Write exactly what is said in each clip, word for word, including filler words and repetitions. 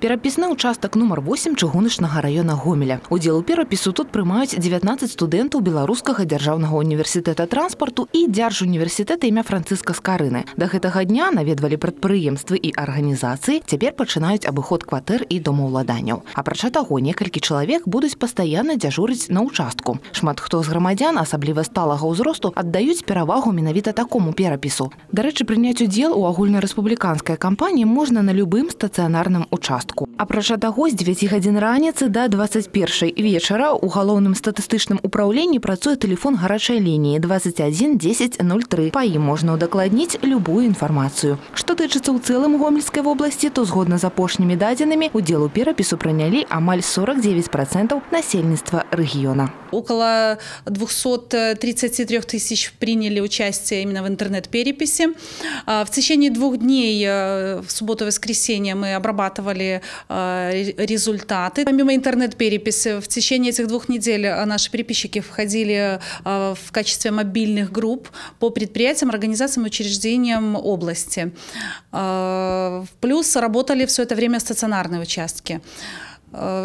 Перапісны участак нумар восемь чыгуначнага района Гомеля. Удзел у перапісу тут прымаюць дзевятнаццаць студэнтаў Беларускага дзяржаўнага універсітэта транспарту і дзяржуніверсітэта імя Францыска Скарыны. Да гэтага дня наведвалі прадпрыемствы і арганізацыі, цяпер пачынаюць абыход кватэр і домаўладанняў. Апрача таго, некалькі чалавек будуць пастаянна дзяжурыць на участку. Шмат хто з грамадзян, асабліва сталага ўзросту, аддаюць перавагу менавіта такому перапісу. Дарэчы, прыняць удзел у агульнарэспубліканскай кампаніі можна на любым стацыянарным участку. Апрача таго, з дзевяці гадзін раніцы да дваццаць першай вечара у галоўным статыстычным упраўленні працуе тэлефон гарачай лініі дваццаць адзін дзесяць нуль тры. Па ім можна ўдакладніць любую інфармацыю. Што тычыцца ў цэлым Гомельскай вобласці, то згодна з апошнімі дадзенымі удзел у перапісу прынялі амаль сорок девять процентов насельніцтва рэгіёна. Около двухсот тридцати трёх тысяч приняли участие именно в интернет-переписи. В течение двух дней, в субботу и воскресенье, мы обрабатывали результаты. Помимо интернет-переписи, в течение этих двух недель наши переписчики входили в качестве мобильных групп по предприятиям, организациям и учреждениям области. Плюс работали все это время стационарные участки.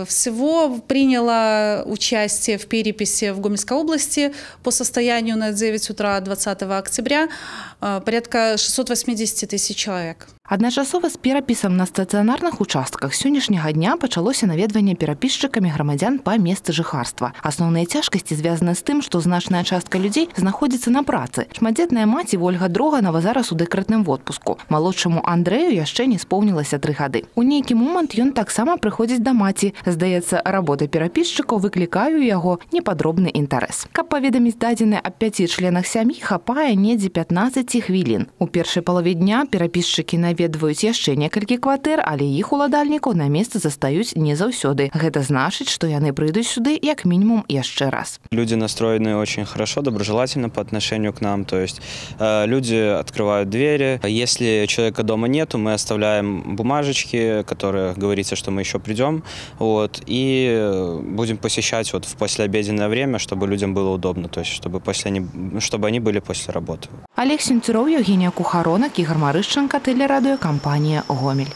Всего приняло участие в переписи в Гомельской области по состоянию на девять утра двадцатого октября порядка шестисот восьмидесяти тысяч человек. Адначасова з перапісам на стацыянарных участках сённяшняга дня пачалося наведванне перапісчыкамі грамадзян па месцы жыхарства. Асноўныя цяжкасці звязаны з тым, што значная частка людзей знаходзіцца на працы. Шматдзетная маці Вольга Дроганова зараз у дэкрэтным водпуску. Малодшаму Андрэю яшчэ не споўнілася тры гады. У нейкі момант ён таксама прыходзіць да маці. Здаецца, работа перапісчыкаў выклікае ў яго непадробны інтарэс. Каб паведаміць дадзеныя аб пяці членах сям'і, хапае недзе пятнаццаць хвілін. У першай палове дня перапісчыкі наведваюць яшчэ некалькі кватэр, але іх уладальнікаў на месцы застаюць не заўсёды. Гэта значыць, што яны прыйдуць сюды як мінімум яшчэ раз. Люди настроены очень хорошо, доброжелательно по отношению к нам. То есть э, люди открывают двери. Если человека дома нету, мы оставляем бумажечки, которые говорится, что мы еще придем. Вот, и будем посещать вот в послеобеденное время, чтобы людям было удобно, то есть чтобы, после они, чтобы они были после работы. Олег Сенцюров, Евгения Кухаронок, Игорь Марышченко, телерадиокомпания «Гомель».